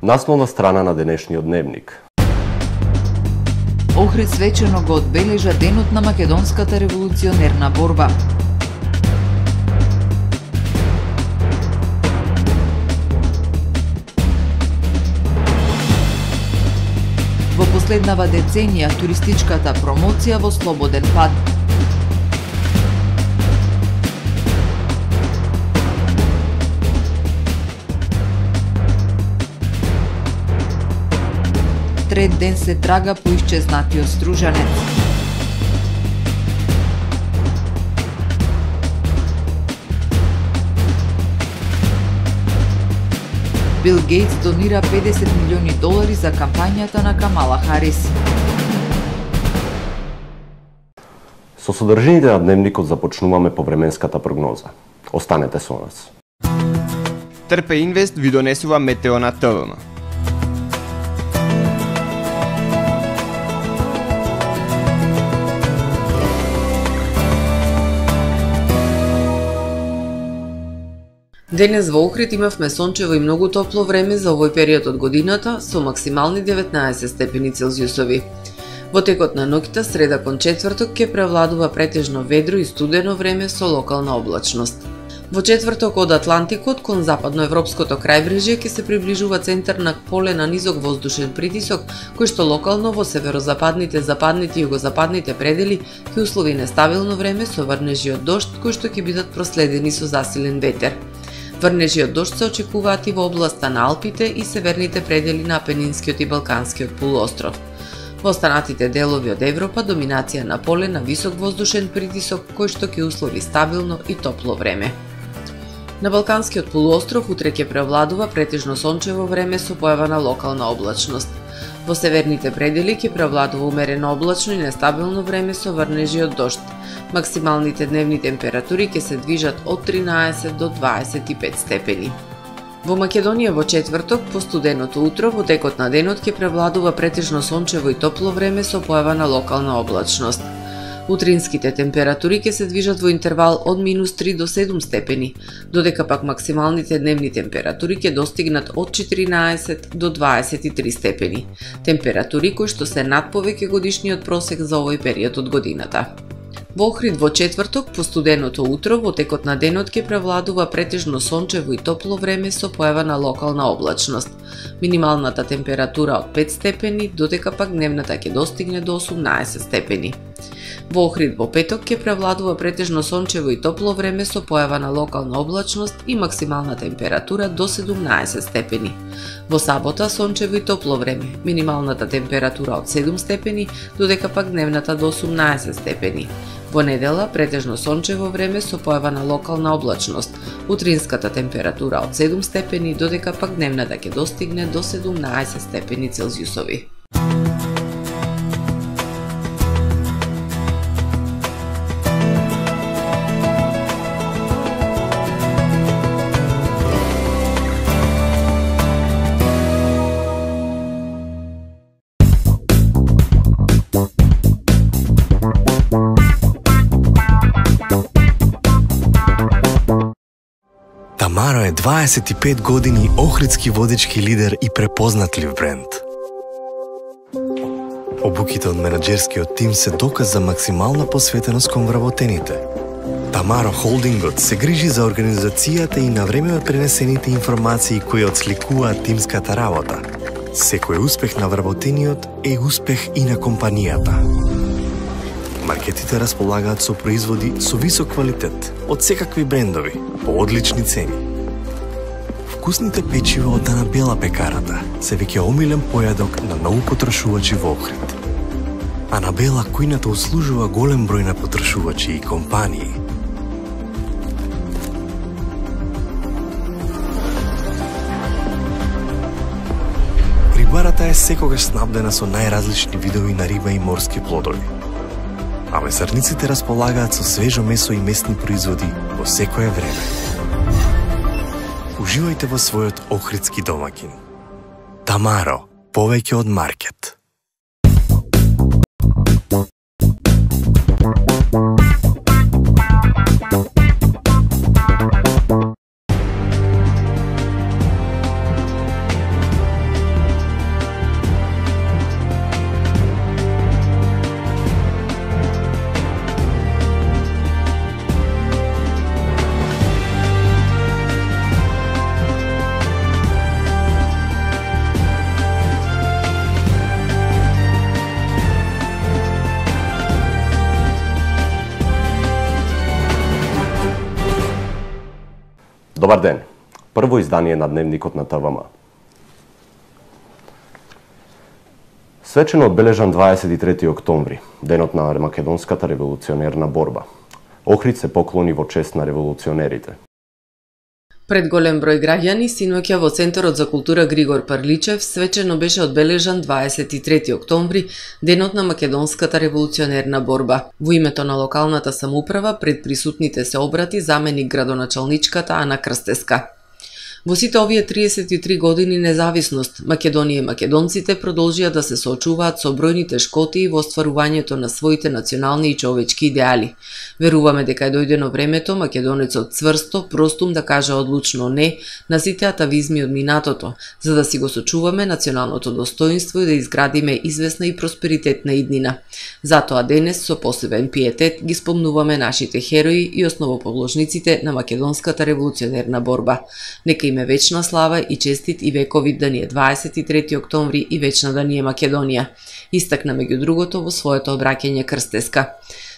Насновна страна на денешниот дневник. Охрид свечено го одбележа денот на македонската револуционерна борба. Во последнава деценија туристичката промоција во слободен пат. Трет ден се трага по исчезнатиот стружанец. Бил Гейтс донира $50 милиони за кампањата на Камала Харис. Со содржините на дневникот започнуваме повременската прогноза. Останете со нас. Трпе Инвест ви донесува метео на ТВМ. Денес во Охрид имавме сончево и многу топло време за овој период од годината со максимални 19 степени Целзиусови. Во текот на ноќта, среда кон четврток, ќе превладува претежно ведро и студено време со локална облачност. Во четврток од Атлантикот кон западноевропското крајбрежје ќе се приближува центар на поле на низок воздушен притисок, кој што локално во северозападните, западните и југозападните предели ќе услови нестабилно време со врнежи од дожд кои што ќе бидат проследени со засилен ветер. Врнежи од дожд се очекуваат и во областа на Алпите и северните предели на Апенинскиот и Балканскиот полуостров. Во останатите делови од Европа доминација на поле на висок воздушен притисок кој што ќе услови стабилно и топло време. На Балканскиот полуостров утре ќе превладува претежно сончево време со појава на локална облачност. Во северните предели ќе превладува умерено облачно и нестабилно време со врнежи од дожд. Максималните дневни температури ќе се движат од 13 до 25 степени. Во Македонија во четврток, по студеното утро, во текот на денот ќе превладува претежно сончево и топло време со појава на локална облачност. Утринските температури ќе се движат во интервал од -3 до 7 степени, додека пак максималните дневни температури ќе достигнат од 14 до 23 степени. Температури кои што се над повеќе годишниот просек за овој период од годината. Во Охрид во четврток, по студеното утро, во текот на денот ќе превладува претежно сончево и топло време со појава на локална облачност. Минималната температура од 5 степени, додека пак дневната ќе достигне до 18 степени. Во Охрид во петок ќе превладува претежно сончево и топло време со појава на локална облачност и максимална температура до 17 степени. Во сабота сончево и топло време, минималната температура од 7 степени, додека пак дневната до 18 степени. Во недела претежно сончево време со појава на локална облачност, утринската температура од 7 степени, додека пак дневната ќе достигне до 17 степени Целзиусови. Тамаро е 25 години охридски водички лидер и препознатлив бренд. Обуките од менаџерскиот тим се доказ за максимална посветеност кон вработените. Тамаро Холдингот се грижи за организацијата и на време од пренесените информации кои отсликуваат тимската работа. Секој успех на вработениот е успех и на компанијата. Маркетите располагаат со производи со висок квалитет од секакви брендови по одлични цени. Вкусните печива од Анабела пекарата се веќе омилен појадок на многу потрошувачи во Охрид. Анабела кујната услужува голем број на потрошувачи и компании. Рибарата е секогаш снабдена со најразлични видови на риба и морски плодови. А месарниците располагаат со свежо месо и месни производи во секое време. Уживајте во својот охридски домаќин. Тамаро, повеќе од маркет. Добар ден. Прво издание на Дневникот на ТВМ. Свечено одбележан 23 октомври, денот на македонската револуционерна борба. Охрид се поклони во чест на револуционерите. Пред голем број граѓани синоќа во Центарот за култура Григор Парличев свечено беше одбележан 23 октомври, денот на македонската револуционерна борба. Во името на локалната самоуправа пред присутните се обрати заменик градоначалничката Ана Крстеска. Во сите овие 33 години независност, Македонија и македонците продолжија да се соочуваат со бројни тешкоти во остварувањето на своите национални и човечки идеали. Веруваме дека е дојдено времето македонецот цврсто, простум да каже одлучно не на сите атавизми од минатото, за да си го сочуваме националното достоинство и да изградиме известна и просперитетна иднина. Затоа денес со посебен пиетет ги спомнуваме нашите херои и основоположниците на македонската револуционерна борба. Нека им е вечна слава и честит и вековит да ни е 23 октомври и вечна да ни е Македонија, истакна меѓу другото во своето обраќање Крстеска.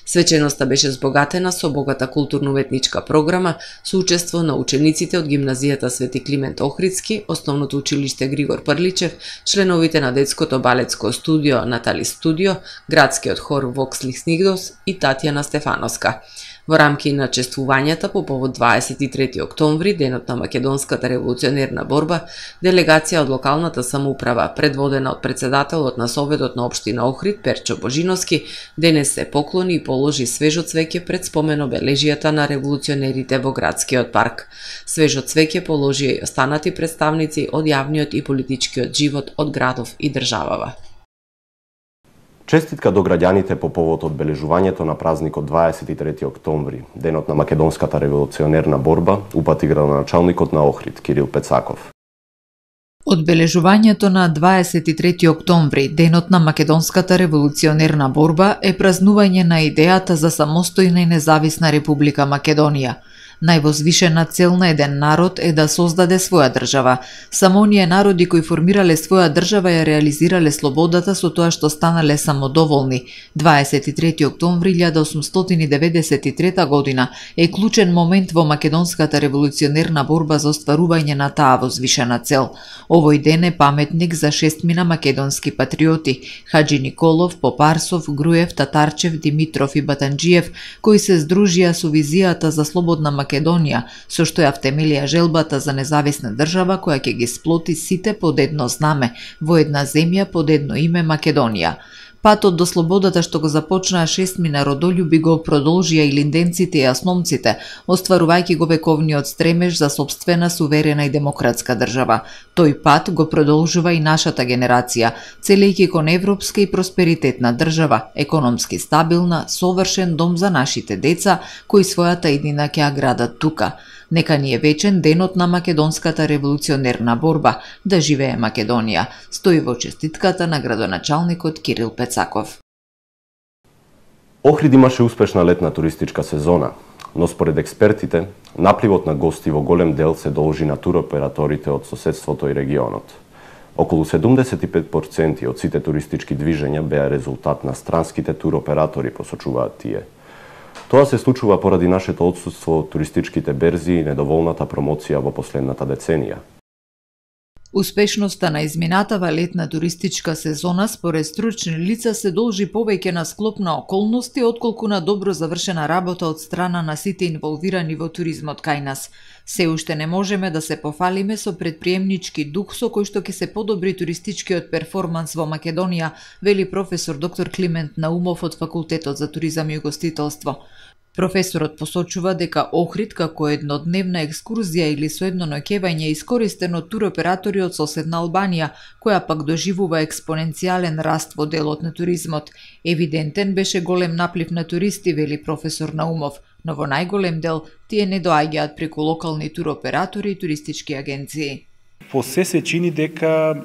Свеченоста беше збогатена со богата културно-уметничка програма со учество на учениците од гимназијата Свети Климент Охридски, основното училиште Григор Прличев, членовите на детското балетско студио Натали Студио, градскиот хор Воксли Снигдос и Татјана Стефановска. Во рамки на чествувањата по повод 23 октомври, денот на македонската револуционерна борба, делегација од локалната самоуправа, предводена од председателот на Советот на општина Охрид Перчо Божиновски, денес се поклони и положи свежо цвеќе пред спомен обележијата на револуционерите во градскиот парк. Свежо цвеќе положија и останати представници од јавниот и политичкиот живот од градов и државава. Честитка до граѓаните по повод одбележувањето на празникот 23 октомври, денот на македонската револуционерна борба, упати градоначалникот на Охрид Кирил Пецаков. Одбележувањето на 23 октомври, денот на македонската револуционерна борба, е празнување на идејата за самостојна и независна Република Македонија. Највозвишена цел на еден народ е да создаде своја држава. Само оние народи кои формирале своја држава ја реализирале слободата со тоа што станале самодоволни. 23 октомври 1893 година е клучен момент во македонската револуционерна борба за остварување на таа возвишена цел. Овој ден е паметник за шестмина македонски патриоти: Хаџи Николов, Попарсов, Груев, Татарчев, Димитров и Батанџиев, кои се здружија со визијата за слободна Македонија, со што ја втемелија желбата за независна држава која ќе ги сплоти сите под едно знаме, во една земја под едно име Македонија. Патот до слободата што го започнаа шестмина родолюби го продолжија и линденците и асномците, остварувајќи го вековниот стремеж за сопствена, суверена и демократска држава. Тој пат го продолжува и нашата генерација, целејќи кон европска и просперитетна држава, економски стабилна, совршен дом за нашите деца, кои својата иднина ќе ја градат тука. Нека ни е вечен денот на македонската револуционерна борба, да живее Македонија, стои во честитката на градоначалникот Кирил Пецаков. Охрид имаше успешна летна туристичка сезона, но според експертите, напливот на гости во голем дел се должи на туроператорите од соседството и регионот. Околу 75% од сите туристички движења беа резултат на странските туроператори, посочуваат тие. Тоа се случува поради нашето отсутство од туристичките берзи и недоволната промоција во последната деценија. Успешноста на изминатава летна туристичка сезона според стручни лица се должи повеќе на склоп на околности отколку на добро завршена работа од страна на сите инволвирани во туризмот кај нас. Се уште не можеме да се пофалиме со предприемнички дух со кој што ќе се подобри туристичкиот перформанс во Македонија, вели професор доктор Климент Наумов од Факултетот за туризам и угостителство. Професорот посочува дека Охрид како еднодневна екскурзија или со едно ноќевање е искористен од туроператори од соседна Албанија, која пак доживува експоненцијален раст во делот на туризмот. Евидентен беше голем наплив на туристи, вели професор Наумов, но во најголем дел тие не доаѓаат преку локални туроператори и туристички агенции. По се чини дека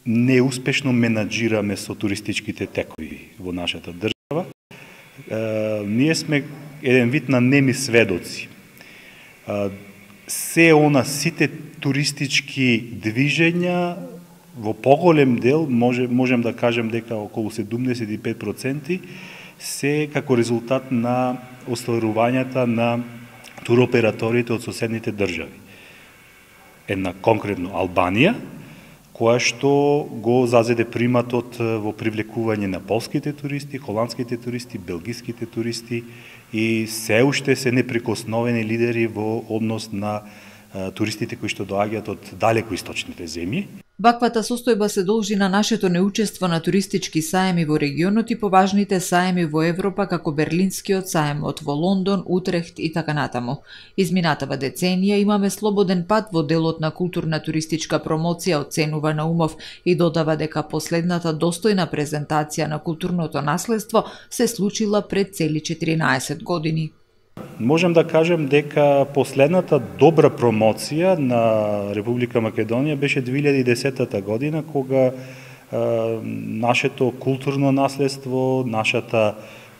неуспешно менаџираме со туристичките текови во нашата држава. Ние сме еден вид на неми сведоци. Сите туристички движења во поголем дел, можем да кажем дека околу 75%, се како резултат на остварувањата на туроператорите од соседните држави. Една конкретно Албанија, која што го зазеде приматот во привлекување на полските туристи, холандските туристи, белгиските туристи и се уште се неприкосновени лидери во однос на туристите кои што доаѓаат од далеко источните земји. Ваквата состојба се должи на нашето неучество на туристички саеми во регионот и поважните саеми во Европа како Берлинскиот саемот во Лондон, Утрехт и така натаму. Изминатава деценија имаме слободен пат во делот на културна туристичка промоција, оценува Наумов и додава дека последната достојна презентација на културното наследство се случила пред цели 14 години. Можем да кажем дека последната добра промоција на Република Македонија беше 2010 година, кога нашето културно наследство, нашата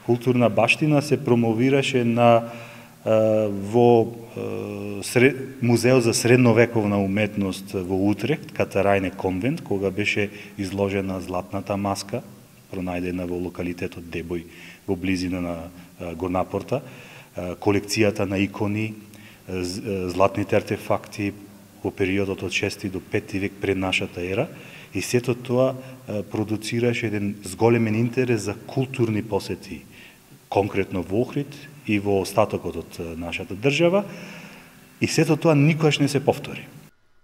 културна баштина се промовираше во Музеот за средновековна уметност во Утрехт, Катарајне конвент, кога беше изложена златната маска, пронајдена во локалитетот Дебој во близина на Горнапорта, колекцијата на икони, златните артефакти во периодот од 6 до 5 век пред нашата ера, и сето тоа продуцираше еден зголемен интерес за културни посети, конкретно во Охрид и во остатокот од нашата држава, и сето тоа никогаш не се повтори.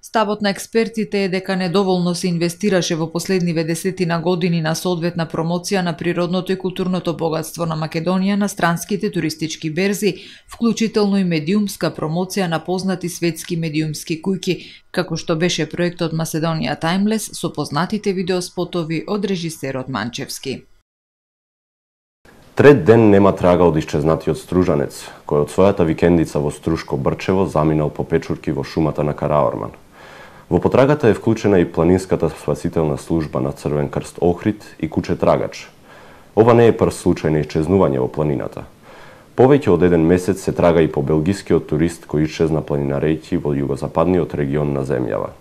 Ставот на експертите е дека недоволно се инвестираше во последниве десетина години на соодветна промоција на природното и културното богатство на Македонија на странските туристички берзи, вклучително и медиумска промоција на познати светски медиумски куќи, како што беше проектот Macedónia Timeless со познатите видеоспотови од режисерот Манчевски. Трет ден нема трага од исчезнатиот стружанец, кој од својата викендица во Струшко Брчево заминал по печурки во шумата на Караорман. Во потрагата е вклучена и планинската спасителна служба на Црвен крст Охрид и куќе трагач. Ова не е прв случај на исчезнување во планината. Повеќе од еден месец се трага и по белгискиот турист кој исчезна планинарејќи во југозападниот регион на земјава.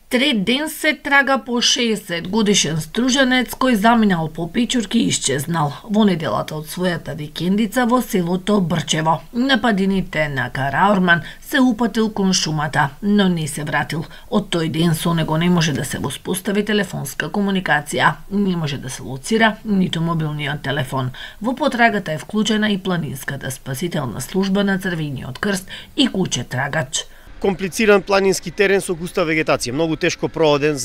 Трет ден се трага по 60 годишен стружанец кој заминал по печурки и исчезнал во неделата од својата викендица во селото Брчево. На падините на Караорман се упатил кон шумата, но не се вратил. Од тој ден со него не може да се воспостави телефонска комуникација, не може да се лоцира ниту мобилниот телефон. Во потрагата е вклучена и планинската спасителна служба на Црвениот крст и куќе трагач. Комплициран планински терен со густа вегетација, многу тешко прооден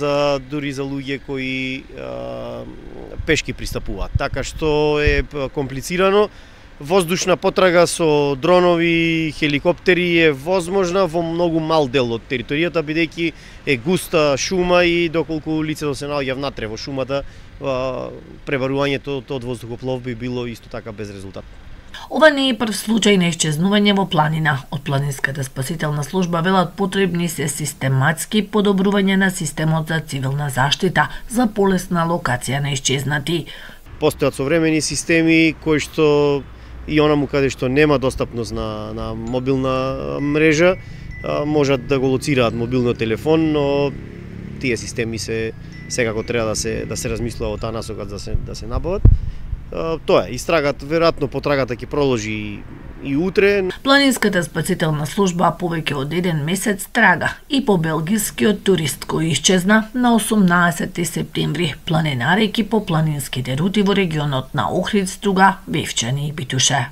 дури за луѓе кои пешки пристапуваат. Така што е комплицирано. Воздушна потрага со дронови, хеликоптери е возможна во многу мал дел од територијата, бидејќи е густа шума и доколку лицето се наоѓа внатре во шумата, пребарувањето од воздухоплов би било исто така без резултат. Ова не е прв случај на исчезнување во планина. Од планинската спасителна служба велат потребни се систематски подобрување на системот за цивилна заштита за полесна локација на исчезнати. Постојат современи системи кои што и онаму каде што нема достапност на мобилна мрежа, можат да го лоцираат мобилниот телефон, но тие системи секако треба да се размислува во таа насока да се набават. Тоа е, истрагат, веројатно потрагата ќе продолжи и утре. Планинската спасителна служба повеќе од еден месец трага и по белгискиот турист кој исчезна на 18 септември, планинарејќи по планинските рути во регионот на Охрид, Струга, Бевчани и Битуше.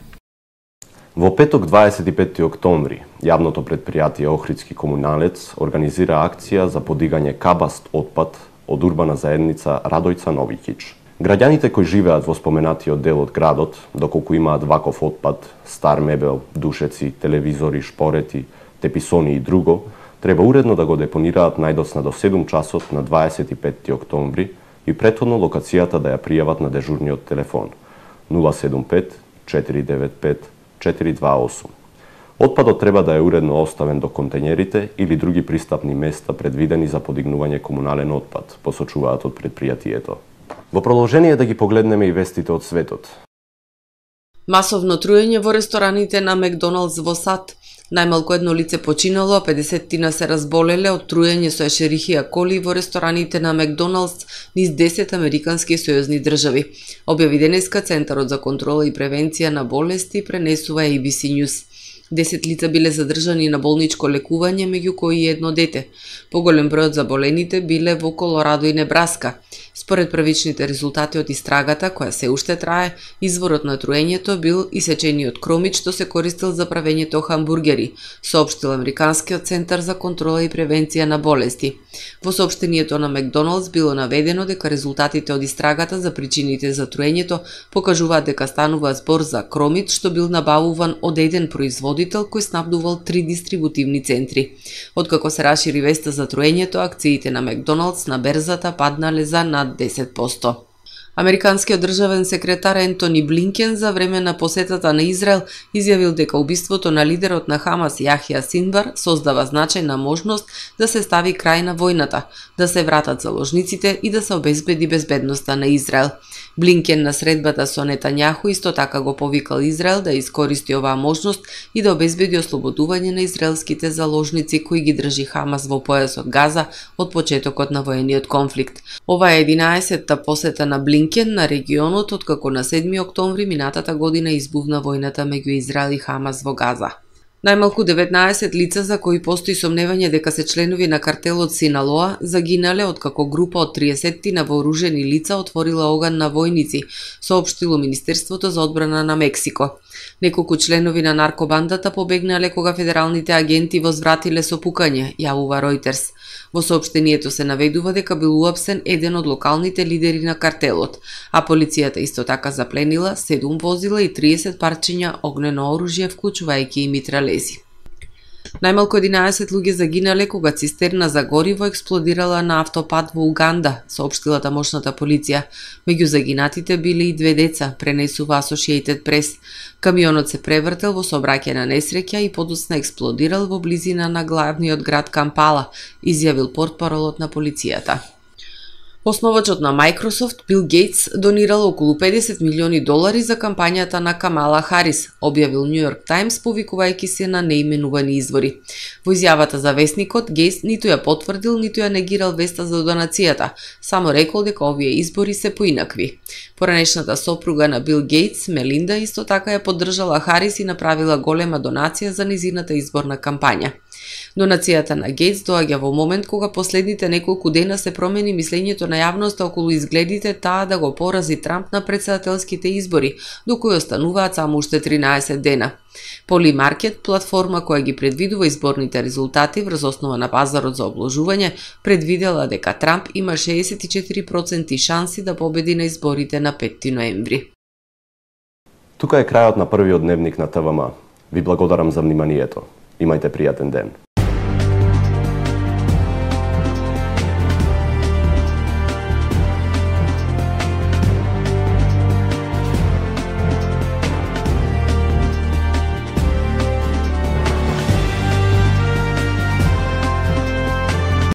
Во петок 25 октомври, јавното претпријатие Охридски комуналец организира акција за подигање кабаст отпад од урбана заедница Радојца Новиќич. Граѓаните кои живеат во споменатиот дел од градот, доколку имаат ваков отпад, стар мебел, душеци, телевизори, шпорети, теписони и друго, треба уредно да го депонираат најдоцна до 7 часот на 25 октомври и претходно локацијата да ја пријават на дежурниот телефон 075 495 428. Отпадот треба да е уредно оставен до контењерите или други пристапни места предвидени за подигнување комунален отпад, посочуваат од претпријатието. Во продолжение да ги погледнеме и вестите од светот. Масовно труење во рестораните на Макдоналдс во САД. Најмалку едно лице починало, а 50 се разболеле од труење со ешерихија коли во рестораните на Макдоналдс низ 10 американски сојузни држави. Објави денеска Центарот за контрола и превенција на болести, пренесува ABC News. 10 лица биле задржани на болничко лекување, меѓу кои и едно дете. Поголем број од заболените биле во Колорадо и Небраска. Според првичните резултати од истрагата, која се уште трае, изворот на труењето бил исечениот кромит што се користел за правењето хамбургери, соопштил Американскиот центар за контрола и превенција на болести. Во соопштението на Макдоналдс било наведено дека резултатите од истрагата за причините за труењето покажуваат дека станува збор за кромит што бил набавуван од еден производител кој снабдувал 3 дистрибутивни центри. Откако се расшири веста за труењето, акциите на Макдоналдс на берзата паднале за над 10%. Американскиот државен секретар Ентони Блинкен за време на посетата на Израел изјавил дека убиството на лидерот на Хамас Јахја Синвар создава значајна можност да се стави крај на војната, да се вратат заложниците и да се обезбеди безбедноста на Израел. Блинкен на средбата со Нетањаху исто така го повикал Израел да искористи оваа можност и да обезбеди ослободување на израелските заложници кои ги држи Хамас во појасот Газа од почетокот на воениот конфликт. Ова е 11-та посета на Блинкен на регионот откако на 7 октомври минатата година избувна војната меѓу Израел и Хамас во Газа. Најмалку 19 лица за кои постои сомневање дека се членови на картелот Синалоа загинале откако група од 30 на вооружени лица отворила оган на војници, соопштило Министерството за одбрана на Мексико. Неколку членови на наркобандата побегнале кога федералните агенти возвратиле со пукање, јавува Reuters. Во соопштението се наведува дека бил уапсен еден од локалните лидери на картелот, а полицијата исто така запленила 7 возила и 30 парчиња огнено оружје, вклучувајќи и митралези. Најмалку 11 луѓе загинале кога цистерна за гориво експлодирала на автопат во Уганда, соопштила тамошната полиција. Меѓу загинатите биле и 2 деца, пренесува Associated Press. Камионот се превртел во сообраќајна несреќа и подоцна експлодирал во близина на главниот град Кампала, изјавил портпаролот на полицијата. Основачот на Microsoft, Бил Гейтс, донирал околу $50 милиони за кампањата на Камала Харис, објавил Нью Йорк Таймс, повикувајќи се на неименувани извори. Во изјавата за весникот, Гейтс ниту ја потврдил, ниту ја негирал веста за донацијата, само рекол дека овие избори се поинакви. Поранешната сопруга на Бил Гейтс, Мелинда, исто така ја поддржала Харис и направила голема донација за низината изборна кампања. Донацијата на Гейтс доаѓа во момент кога последните неколку дена се промени мислењето на јавноста околу изгледите таа да го порази Трамп на претседателските избори, до кои остануваат само уште 13 дена. Polymarket, платформа која ги предвидува изборните резултати врз основа на пазарот за обложување, предвидела дека Трамп има 64% шанси да победи на изборите на 5 ноември. Тука е крајот на првиот дневник на ТВМ. Ви благодарам за вниманието. Имајте пријатен ден.